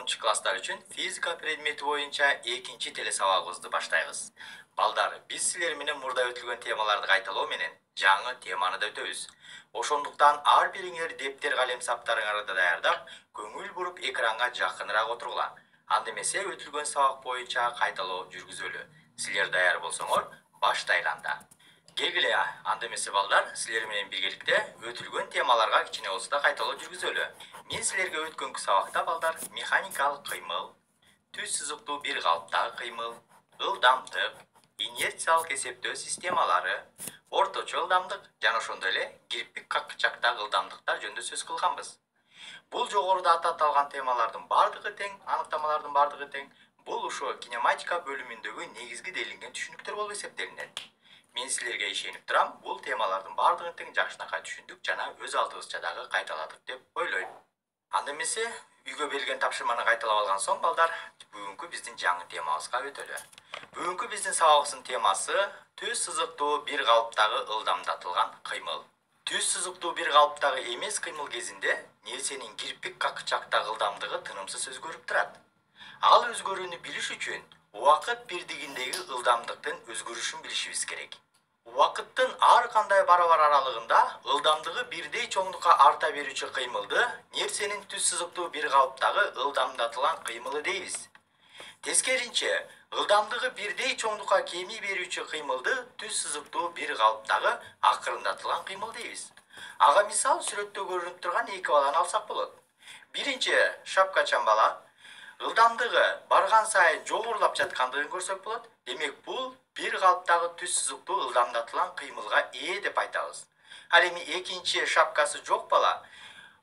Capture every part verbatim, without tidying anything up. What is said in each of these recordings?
тогузунчу класстар үчүн физика предмети боюнча экинчи теле сабагыбызды баштайбыз. Балдар, биз силер менен мурда өтүлгөн темаларды кайталоо менен жаңы теманы да өтөбүз. Ошондуктан ар бириңер дептер калем саптарыңарды даярдап, көңүл буруп экранга жакыныраак отургула. Анда эмесе өтүлгөн сабак боюнча кайталоо жүргүзөлү. Силер даяр болсоңор, баштайлы анда. Келгиле, анда эмесе балдар, силер менен биргеликте өтүлгөн темаларга кичине болсо да кайталоо жүргүзөлү. Мен силерге өткөнкү сабакта балдар механикалык кыймыл, түз сызыктуу бир калыптагы кыймыл, ылдамдык, инерциялык эсептөө системалары, орточо ылдамдык жана ошондой эле кирпик какчактагы ылдамдыктар жөнүндө сөз кылганбыз. Бул жогоруда аталган темалардын бардыгы тең, аныктамалардын бардыгы тең. Бул ушо кинематика бөлүмүндөгү негизги делинген түшүнүктөр болуп эсептелинет. Мен силерге ишенип турам, бул темалардын бардыгын тең жакшынакай түшүндүк жана өз алдыбызча дагы кайталадык деп ойлойм. Анда эмесе, үйгө берилген тапшырманы кайталап алган соң, балдар, бүгүнкү биздин жаңы темабызга өтөлү. Бүгүнкү биздин сабагыбыздын темасы түз сызыктуу бир калыптагы ылдамдатылган кыймыл. Түз сызыктуу бир калыптагы эмес кыймыл кезинде нерсенин кирпик какчактагы ылдамдыгы тынымсыз өзгөрүп турат. Ал өзгөрүүнү билиш үчүн убакыт бирдигиндеги ылдамдыктын өзгөрүшүн билишибиз керек. Убакыттын ар кандай барабар аралыгында ылдамдыгы бирдей чоңдукка арта берүүчү кыймылды нерсенин түз сызыктуу бир калыптагы ылдамдатылган кыймылы дейбиз. Тескеринче, ылдамдыгы бирдей чоңдукка кеми берүүчү кыймылды түз сызыктуу бир калыптагы акырындатылган кыймыл дейбиз. Ага мисал сүрөттө көрүнүп турган эки баланы алсак болот. Биринчи шапкачан бала ылдамдыгы барган сайын жогорулап жаткандыгын көрсөк болот. Демек, бул бир калыптагы түз сызыктуу ылдамдатылган кыймылга ээ деп айтабыз. Ал эми экинчи шапкасы жок бала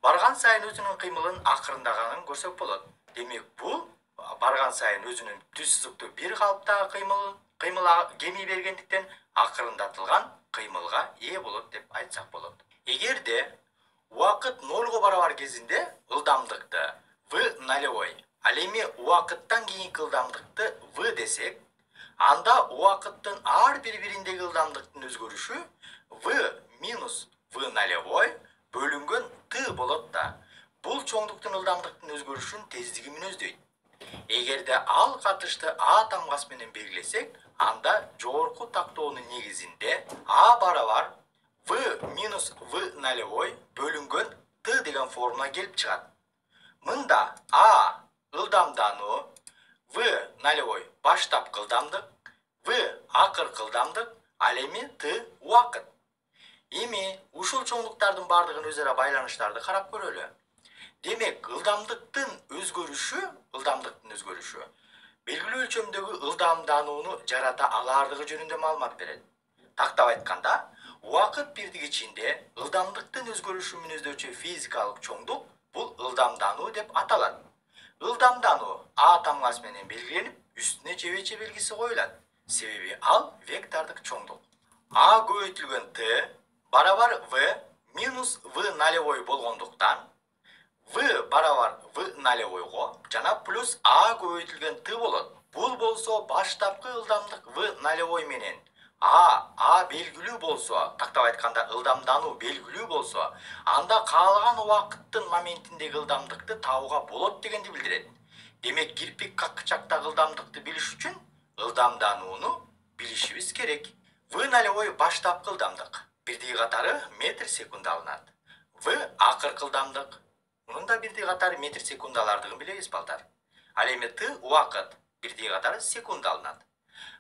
барган сайын өзүнүн кыймылын акырындаганын көрсөк болот. Демек, бул барган сайын өзүнүн түз сызыктуу бир калыптагы кыймыл кыймылга кеми бергендиктен акырындатылган кыймылга ээ болот деп айтсак болот. Эгерде убакыт нолго барабар кезинде ылдамдыкты v нолевой, ал эми убакыттан кийинки ылдамдыкты v десек, анда убакыттын ар бир бириндеги ылдамдыктын өзгөрүшү v минус v нолевой бөлүнгөн t болот да. Бул чоңдуктун ылдамдыктын өзгөрүшүн тездиги мүнөздөйт. Эгерде ал катышты а тамгасы менен белгилесек, анда жогорку тактоонун негизинде а барабар v минус v нолевой бөлүнгөн t деген формула келип чыгат. Мында а ылдамдануу, v нолевой баштапкы ылдамдык, v акыркы ылдамдык, ал эми t убакыт. Эми ушул чоңдуктардын бардыгын өз ара байланыштарды карап көрөлү. Демек, ылдамдыктын өзгөрүшү, ылдамдыктын өзгөрүшү белгилүү өлчөмдөгү ылдамданууну жарата алаардыгы жөнүндө маалымат берет. Тактап айтканда, убакыт бирдиги ичинде ылдамдыктын өзгөрүшүн мүнөздөчү физикалык чоңдук бул ылдамдануу деп аталат. Ылдамдануу а тамгасы менен белгиленип, үстүнө чебече белгиси коюлат. Себеби ал вектордук чоңдук. А көбөйтүлгөн t барабар v минус v нолевой болгондуктан, v барабар v нолевойго жана плюс а көбөйтүлгөн t болот. Бул болсо баштапкы ылдамдык v нолевой менен а а белгилүү болсо, тактап айтканда ылдамдануу белгилүү болсо, анда каалаган убакыттын моментиндеги ылдамдыкты табууга болот дегенди билдирет. Демек, кирпик какчактагы ылдамдыкты билиш үчүн ылдамданууну билишибиз керек. v нолевой баштапкы ылдамдык, бирдиги катары метр секунд алынат. v акыркы ылдамдык, мунун да бирдиги катары метр секунд алардыгын билебиз балдар. Ал эми t убакыт, бирдиги катары секунд алынат.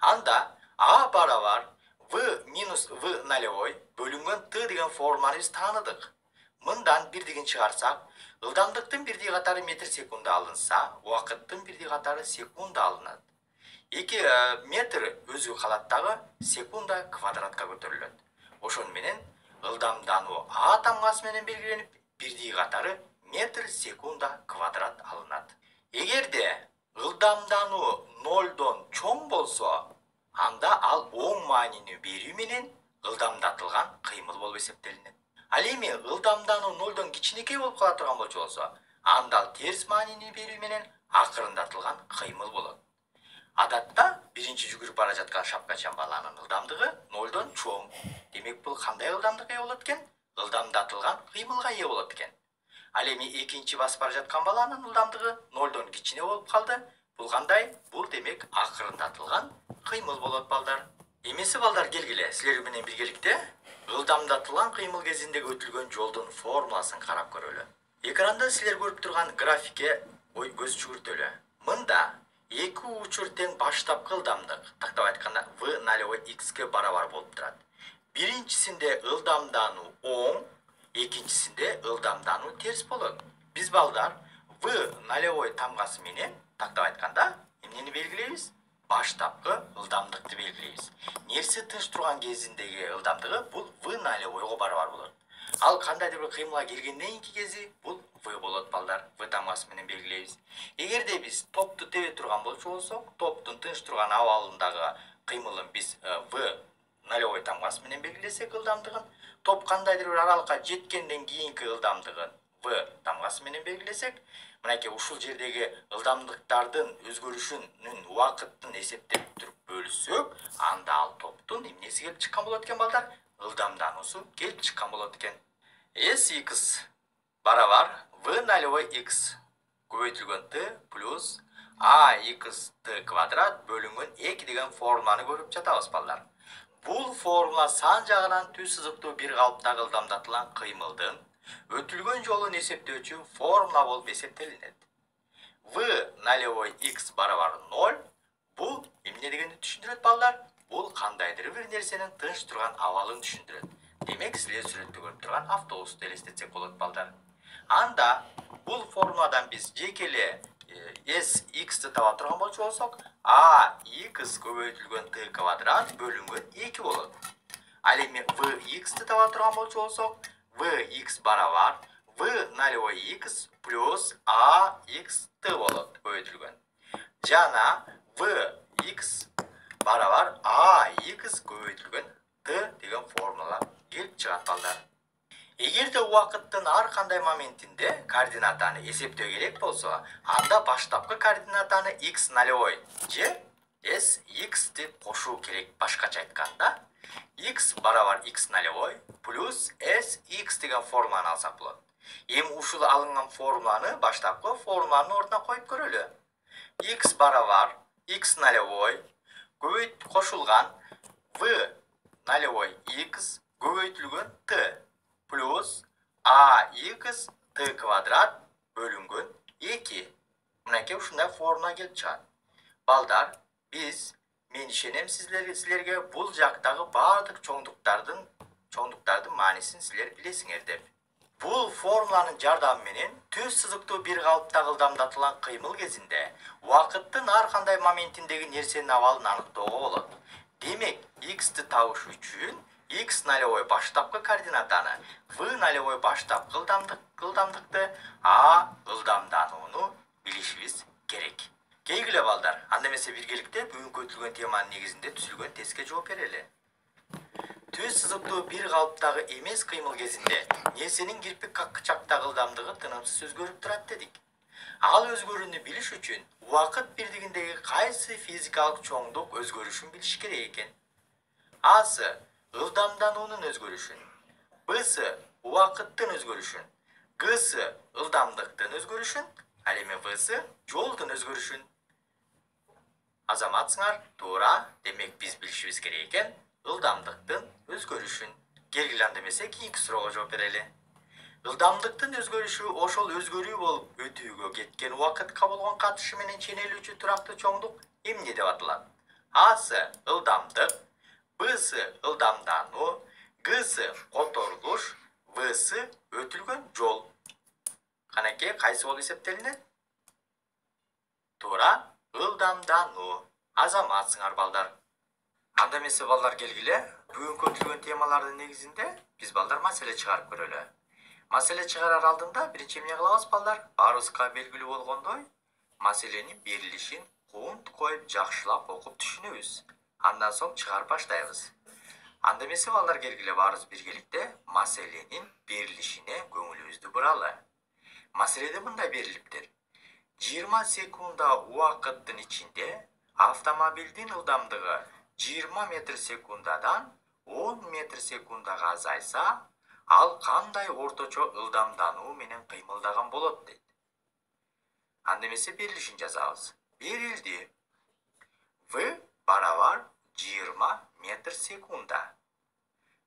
Анда а барабар v минус v нолевой бөлүнгөн t деген формуланы биз тааныдык. Мындан бирдигин чыгарсак, ылдамдыктын бирдиги катары метр секунд алынса, убакыттын бирдиги катары секунд алынат. эки метр өзү калат дагы секунда квадратка көтөрүлөт. Ошон менен ылдамдануу а тамгасы менен белгиленип, бирдиги катары метр секунда квадрат алынат. Эгерде ылдамдануу нолдон чоң болсо, анда ал оң маанини берүү менен ылдамдатылган кыймыл болуп эсептелинет. Ал эми ылдамдануу нолдон кичинекей болуп кала турган болсо, анда ал терс маанини берүү менен акырындатылган кыймыл болот. Адатта биринчи жүгүрүп бара жаткан шапкачан баланын ылдамдыгы нолдон чоң. Демек, бул кандай ылдамдыкка ээ болот экен? Ылдамдатылган кыймылга ээ болот экен. Ал эми экинчи басып бара жаткан баланын ылдамдыгы нолдон кичине болуп калды. Бул кандай? Бул демек акырындатылган кыймыл болот балдар. Эмесе балдар келгиле, силер менен биргеликте ылдамдатылган кыймыл кезинде өтүлгөн жолдун формуласын карап көрөлү. Экранда силер көрүп турган графикке ой көз жүгүртөлү. Мында эки учур тең баштапкы ылдамдык, тактап айтканда v нулевой x'ке барабар болуп турат. Биринчисинде ылдамдануу оң, экинчисинде ылдамдануу терс болот. Биз балдар v нулевой тамгасы менен тактап айтканда эмнени белгилейбиз? Баштапкы ылдамдыкты белгилейбиз. Нерсе тынч турган кезиндеги ылдамдыгы бул v нулевойго барабар болот. Ал кандайдыр бир кыймылга келгенден кийинки кези бул v болот балдар. V тамгасы менен белгилейбиз. Эгерде биз топту тебе турган болчу болсок, топтун тынч турган абалындагы кыймылын биз v нулевой тамгасы менен белгилесек ылдамдыгын, топ кандайдыр бир аралыкка жеткенден кийинки ылдамдыгын v тамгасы менен белгилесек, мынакей ушул жердеги ылдамдыктардын өзгөрүшүнүн убакытын эсептеп туруп бөлүсөк, анда ал топтун эмнеси келип чыккан болот экен балдар? Ылдамдануусу келип чыккан болот экен. Sx барабар v нулевой x көбөйтүлгөн t плюс ax t квадрат бөлүнгөн эки деген формуланы көрүп жатабыз балдар. Бул формула сан жагынан түз сызыктуу бир калыптагы ылдамдатылган кыймылдын өтүлгөн жолун эсептөөчү формула болуп эсептелинет. V нулевой x барабар ноль. Бул эмне дегенди түшүндүрөт балдар? Бул кандайдыр бир нерсенин тынч турган абалын түшүндүрөт. Демек, силер сүрөттө көрүп турган автобусту элестетсек болот балдар. Анда бул формуладан биз жекеле sx'ти таба турган болчу болсок, ax көбөйтүлгөн t квадрат бөлүнгөн эки болот. Ал эми vx'ти таба турган болчу болсок, vx барабар v нулевой x плюс ax t болот көбөйтүлгөн. Жана vx барабар ax көбөйтүлгөн t деген формула келип чыгат балдар. Эгерде убакыттын ар кандай моментинде координатаны эсептөө керек болсо, анда баштапкы координатаны x нулевой же sx деп кошуу керек. Башкача айтканда, x барабар x нулевой плюс sx деген формуланы алсак болот. Эми ушул алынган формуланы баштапкы формуланын ордуна коюп көрөлү. X барабар x нулевой көбөйт кошулган v нулевой x көбөйтүлгөн t плюс ax t квадрат бөлүнгөн эки. Мынакей ушундай формула келип чыгат. Балдар, биз мен ишенем силерге, силерге бул жактагы баардык чоңдуктардын чоңдуктардын маанисин силер билесиңер деп. Бул формуланын жардамы менен түз сызыктуу бир калыптагы ылдамдатылган кыймыл кезинде убакыттын ар кандай моментиндеги нерсенин абалын аныктоого болот. Демек, x'ти табыш үчүн x нулевой баштапкы координатаны, v нулевой баштапкы ылдамдык ылдамдыкты, a ылдамданууну билишибиз керек. Келгиле балдар, анда эмесе биргеликте бүгүнкү өтүлгөн теманын негизинде түзүлгөн тестке жооп берели. Түз сызыктуу бир калыптагы эмес кыймыл кезинде нерсенин кирпик какчактагы ылдамдыгы тынымсыз өзгөрүп турат дедик. Ал өзгөрүүнү билиш үчүн убакыт бирдигиндеги кайсы физикалык чоңдук өзгөрүшүн билиш керек экен. A'сы ылдамдануунун өзгөрүшүн, B'сы убакыттын өзгөрүшүн, G'сы ылдамдыктын өзгөрүшүн, ал эми V'сы жолдун өзгөрүшүн. Азаматсыңар, туура. Демек биз билишибиз керек экен ылдамдыктын өзгөрүшүн. Келгиле анда эмесе кийинки суроого жооп берели. Ылдамдыктын өзгөрүшү ошол өзгөрүү болуп өтүүгө кеткен убакытка болгон катышы менен ченелүүчү турактуу чоңдук эмне деп аталат? A'сы ылдамдык, B'сы ылдамдануу, G'сы которулуш, V'сы өтүлгөн жол. Канакей, кайсы болуп эсептелинет? Туура, ылдамдануу. Азаматсыңар балдар. Анда эмесе балдар, келгиле, бүгүнкү өтүлгөн темалардын негизинде биз балдар маселе чыгарып көрөлү. Маселе чыгарар алдында биринчи эмне кылабыз балдар? Баарыбызга белгилүү болгондой, маселенин берилишин кунт коюп жакшылап окуп түшүнөбүз. Андан соң чыгарып баштайбыз. Анда эмесе балдар, келгиле баарыбыз биргеликте маселенин берилишине көңүлүбүздү буралы. Маселеде мындай берилиптир. жыйырма секунда убакыттын ичинде автомобилдин ылдамдыгы жыйырма метр секундадан он метр секундага азайса, ал кандай орточо ылдамдануу менен кыймылдаган болот дейт. Анда эмесе берилишин жазабыз. Берилди. В барабар жыйырма метр секунда.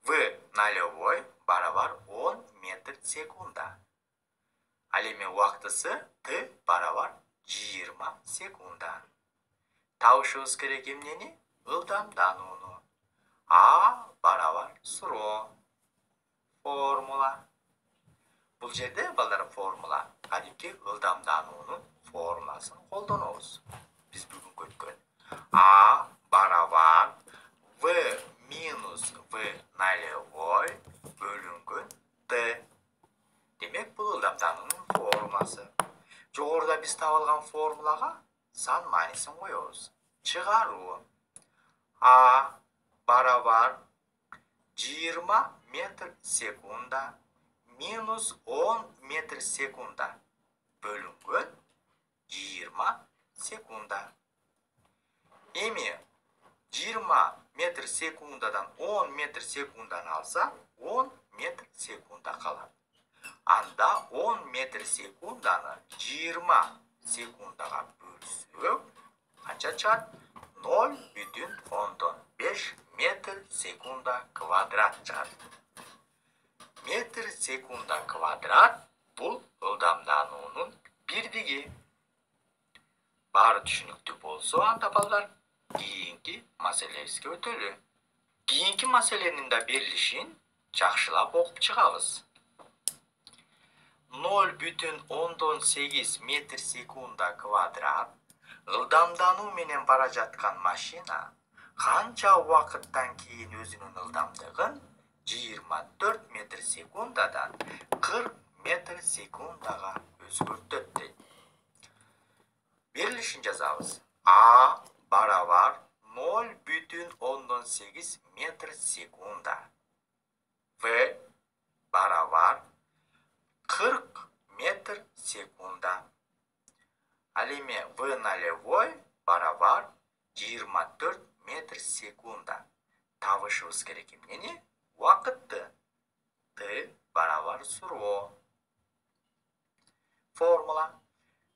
В нолевой барабар он метр секунда. Ал эми убактысы Т барабар жыйырма секунда. Табышыбыз керек эмнени? Ылдамданууну. А барабар суроо. Формула. Бул жерде балдар формула кадимки ылдамдануунун формуласын колдонобуз. Биз бүгүнкү өткөн А барабар В минус В нолевой бөлүнгөн Т. Демек бул ылдамдануунун формуласы. Жогоруда биз таап алган формулага сан маанисин коебуз. Чыгаруу. А барабар жыйырма метр секунда минус он метр секунда бөлүнгөн жыйырма секунда. Эми жыйырма метр секундадан он метр секунданы алса, он метр секунда калат. Анда он метр секунданы жыйырма секундага бөлсөк, канча чыгат? ноль бүтүн ондон беш метр секунда квадрат чыгат. Метр секунда квадрат бул ылдамдануунун бирдиги. Баары түшүнүктүү болсо, анда балдар кийинки маселебизге өтөлү. Кийинки маселенин да берилишин жакшылап окуп чыгабыз. ноль бүтүн ондон сегиз метр секунда квадрат ылдамдануу менен бара жаткан машина канча убакыттан кийин өзүнүн ылдамдыгын жыйырма төрт метр секундадан кырк метр секундага өзгөртөт дейт. Берилишин жазабыз. А барабар ноль бүтүн ондон сегиз метр секунда. В барабар кырк метр секунда. Ал эми В нолевой барабар жыйырма төрт метр секунда. Табышыбыз керек эмнени? Убакытты. Т барабар суроо. Формула.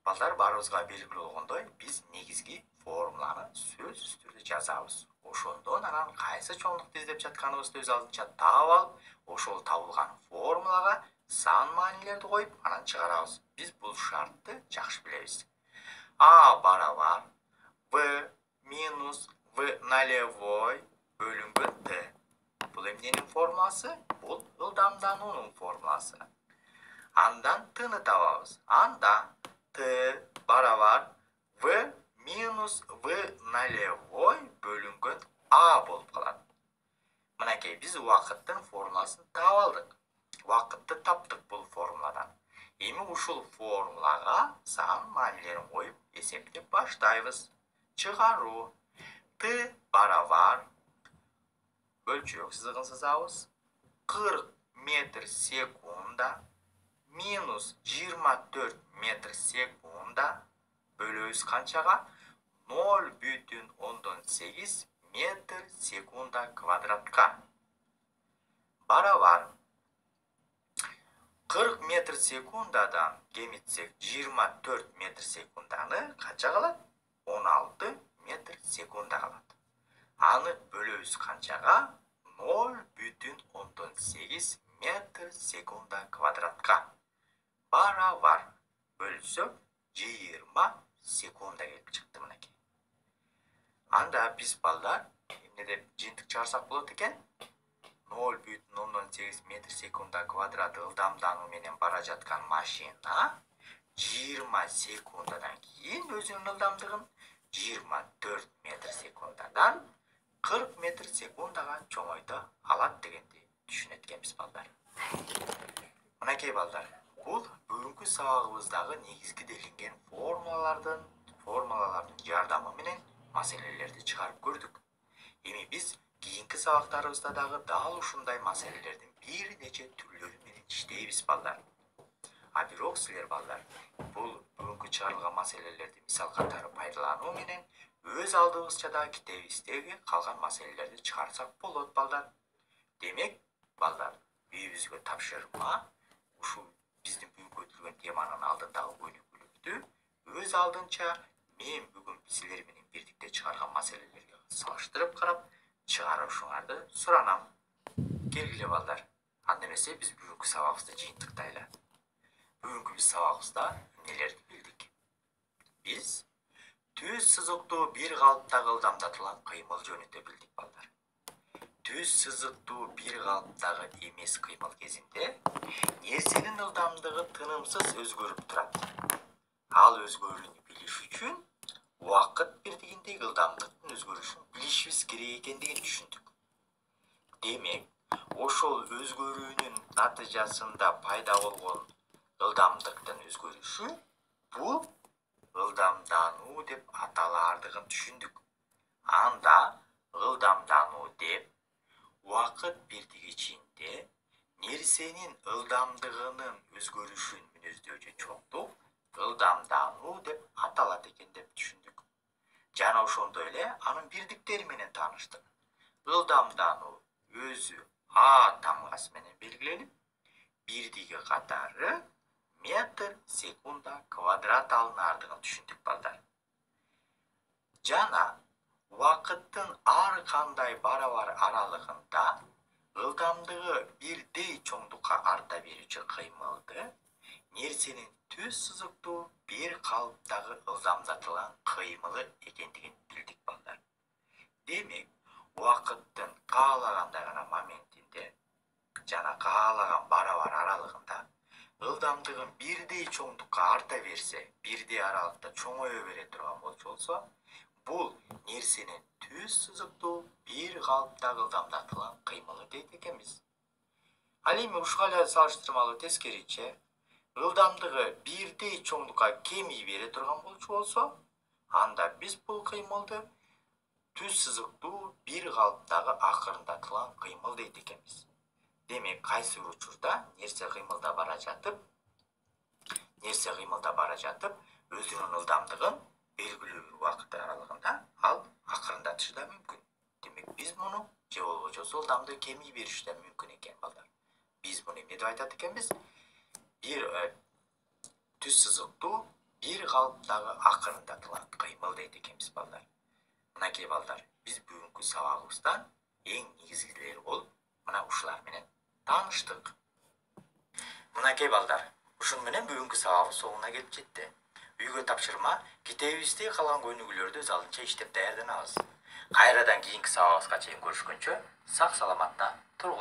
Балдар баарыбызга белгилүү болгондой, биз негизги формуланы сөз үстүрдө жазабыз. Ошондон анан кайсы чоңдукту издеп жатканыбызды өз алдынча таап алып, ошол табылган формулага сан маанилерди коюп, анан чыгарабыз. Биз бул шартты жакшы билебиз. А барабар В минус В нолевой бөлүнгөн Т. Бул эмненин формуласы? Бул ылдамдануунун формуласы. Андан Тны табабыз. Анда Т барабар В минус В нолевой бөлүнгөн А болуп калат. Мынакей биз убакыттын формуласын таап алдык. Убакытты таптык бул формуладан. Эми ушул формулага сан маанилерин коюп эсептеп баштайбыз. Чыгаруу. Т барабар бөлчөк сызыгын сызабыз. кырк метр секунда минус жыйырма төрт метр секунда бөлөбүз канчага? ноль бүтүн ондон сегиз метр секунда квадратка. Барабар кырк метр секундадан кемитсек жыйырма төрт метр секунданы канча калат? он алты метр секунда калат. Аны бөлөбүз канчага? ноль бүтүн ондон сегиз метр секунда квадратка. Барабар бөлсөк жыйырма секунда келип чыкты мынакей. Анда биз балдар эмне деп жыйынтык чыгарсак болот экен? ноль бүтүн ондон сегиз метр секунда квадрат ылдамдануу менен бара жаткан машина жыйырма секундадан кийин өзүнүн ылдамдыгын жыйырма төрт метр секундадан кырк метр секундага чоңойто алат дегенди түшүнөт экенбиз балдар. Мынакей балдар, бул бүгүнкү сабагыбыздагы негизги делинген формулалардын формулалардын жардамы менен маселелерди чыгарып көрдүк. Эми биз кийинки сабактарыбызда дагы дал ушундай маселелердин бир нече түрлөрү менен иштейбиз балдар. А бирок силер балдар, бул бүгүнкү чыгарылган маселелерди мисал катары пайдалануу менен өз алдыбызча да китебибиздеги калган маселелерди чыгарсак болот балдар. Демек, балдар, үйүбүзгө тапшырма ушул биздин бүгүнкү өтүлгөн теманын алдындагы өнүгүүлөрдү өз алдынча мен бүгүн силер менен бирдикте чыгарган маселелерге салыштырып карап чыгарышыңарды суранам. Келгиле балдар. Анда эмесе биз бүгүнкү сабагыбызды жыйынтыктайлы. Бүгүнкү биз сабагыбызда нелерди билдик? Биз түз сызыктуу бир калыптагы ылдамдатылган кыймыл жөнүндө билдик балдар. Түз сызыктуу бир калыптагы эмес кыймыл кезинде нерсенин ылдамдыгы тынымсыз өзгөрүп турат. Ал өзгөрүүнү билиш үчүн убакыт бирдигиндеги ылдамдыктын өзгөрүшүн билишибиз керек экендигин түшүндүк. Демек, ошол өзгөрүүнүн натыйжасында пайда болгон ылдамдыктын өзгөрүшү бул ылдамдануу деп аталаардыгын түшүндүк. Анда ылдамдануу деп убакыт бирдигичинде нерсенин ылдамдыгынын өзгөрүшүн мүнөздөөгө чоңдук ылдамдануу деп аталат экен деп түшүндүк. Жана ошондой эле анын бирдиктери менен тааныштык. Ылдамдануу өзү а тамгасы менен белгиленип, бирдиги катары метр секунда квадрат алынаардыгын түшүндүк балдар. Жана убакыттын ар кандай барабар аралыгында ылдамдыгы бирдей чоңдукка арта берүүчү кыймылды нерсенин түз сызыктуу бир калыптагы ылдамдатылган кыймылы экендигин билдик балдар. Демек, убакыттын каалагандай гана моментинде жана каалаган барабар аралыгында ылдамдыгын бирдей чоңдукка арта берсе, бирдей аралыкта чоңое бере турган болсо, бул нерсенин түз сызыктуу бир калыптагы ылдамдатылган кыймылы дейт экенбиз. Ал эми ушуга эле салыштырмалуу тескериче, ылдамдыгы бирдей чоңдукка кемий бере турган болсо, анда биз бул кыймылды түз сызыктуу бир калыптагы акырындатылган кыймыл дейт экенбиз. Демек, кайсы бир учурда нерсе кыймылда бара жатып, нерсе кыймылда бара жатып, өзүнүн ылдамдыгын белгилүү бир убакыт аралыгында ал акырындатышы да мүмкүн. Демек, биз муну же болбосо ылдамдыгы кемий бериши да мүмкүн экен балдар. Биз муну эмне деп айтат экенбиз? Бир түз сызыктуу бир калыптагы акырындатылган кыймыл дейт экенбиз балдар. Мынакей балдар, биз бүгүнкү сабагыбыздан эң негизгилери болуп, мына ушулар менен тааныштык. Мынакей балдар, ушун менен бүгүнкү сабагыбыз соңуна келип жетти. Үйгө тапшырма, китебибизде калган өнүгүүлөрдү өз алдынча иштеп даярданабыз. Кайрадан кийинки сабагыбызга чейин көрүшкөнчө сак саламатта тургула.